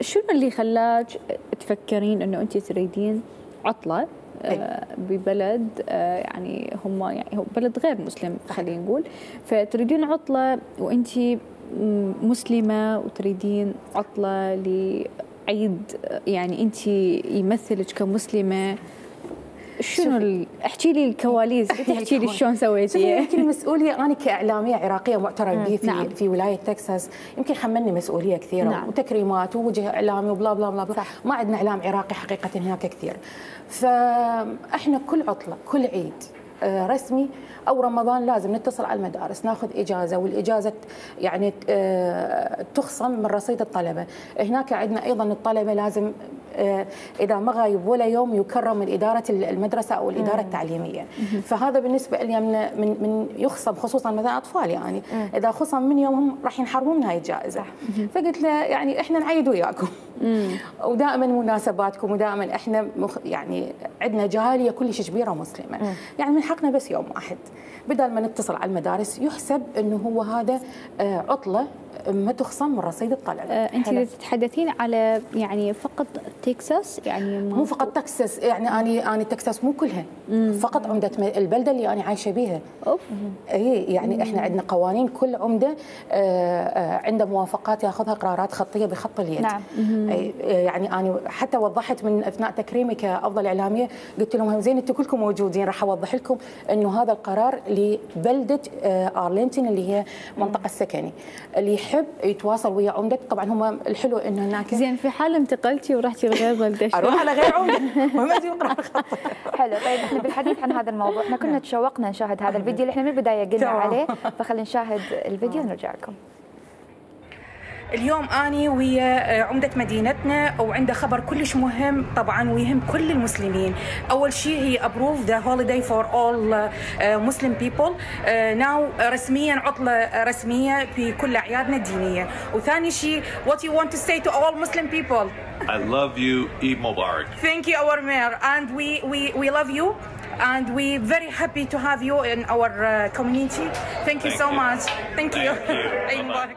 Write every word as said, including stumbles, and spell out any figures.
شنو اللي خلاك تفكرين انه انت تريدين عطله ببلد يعني هم يعني هو بلد غير مسلم خلينا نقول، فتريدين عطله وانت مسلمه وتريدين عطله لعيد يعني انت يمثلك كمسلمه؟ شنو احكي لي الكواليس، احكي لي شلون سويتي؟ يمكن مسؤوليه انا كاعلاميه عراقيه معترف به في نعم. في ولايه تكساس، يمكن حملني مسؤوليه كثيره نعم. وتكريمات ووجه اعلامي وبلا بلا بلا, بلا. ما عندنا اعلام عراقي حقيقه هناك كثير، فاحنا كل عطله كل عيد رسمي او رمضان لازم نتصل على المدارس ناخذ اجازه، والاجازه يعني تخصم من رصيد الطلبه. هناك عندنا ايضا الطلبه لازم اذا ما غايب ولا يوم يكرم من اداره المدرسه او الاداره التعليميه، فهذا بالنسبه لي من من يخصم خصوصا مثلا اطفال يعني اذا خصم من يومهم راح ينحرمون من هاي الجائزه. فقلت له يعني احنا نعيد وياكم ودائما مناسباتكم ودائما احنا مخ يعني عندنا جاليه كلش كبيره مسلمه، يعني من حقنا بس يوم واحد بدل ما نتصل على المدارس يحسب انه هو هذا عطله ما تخصم من رصيد الطلبه. أه انت تتحدثين على يعني فقط تكساس يعني مو فقط تكساس، يعني انا انا تكساس مو كلها مم. فقط عمده البلده اللي انا عايشه بيها. اوف اي يعني مم. احنا عندنا قوانين كل عمده عنده موافقات ياخذها قرارات خطيه بخط اليد. نعم. يعني انا حتى وضحت من اثناء تكريمي كافضل اعلاميه قلت لهم زين انتم كلكم موجودين راح اوضح لكم انه هذا القرار لبلده ارلينتون اللي هي منطقه السكني، اللي يحب يتواصل ويا عمدتك. طبعا هم الحلو انه هناك زين في حال انتقلتي ورحتي لغير بلده اروح على غير عمده ما ادري اقرا خط. حلو. طيب احنا بالحديث عن هذا الموضوع احنا كنا تشوقنا نشاهد هذا الفيديو اللي احنا من البدايه قلنا عليه، فخلينا نشاهد الفيديو ونرجع لكم. اليوم أني ويا عمدة مدينتنا وعنده خبر كلش مهم طبعا ويهم كل المسلمين. أول شيء هي approve the holiday for all uh, Muslim people uh, now رسميا عطلة رسمية في كل أعيادنا الدينية. وثاني شيء what you want to say to all Muslim people? I love you. Eid Mubarak. Thank you our mayor and we we we love you and we very happy to have you in our uh, community. Thank you Thank so you. much. Thank, Thank you. you.